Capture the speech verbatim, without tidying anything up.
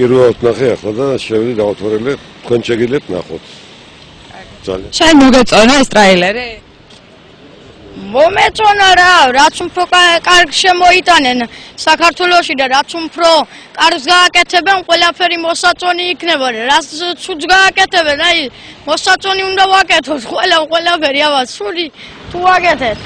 პირველად ნახე ახლა და შევიდი დავათვალე, თქვენ შეგიძლიათ ნახოთ. ძალიან. შენ მოგეწონა ეს ტრეილერი? მომეწონა რა, რაც უფრო კარგ შემოიტანენ საქართველოში და რაც უფრო კარგს გააკეთებენ, ყველაფერი მოსაწონი იქნება. რაც ცუდს გააკეთებენ, აი მოსაწონი უნდა ვაკეთოთ, ყველა ყველაფერი, აბა, სული თუ ვაკეთეთ.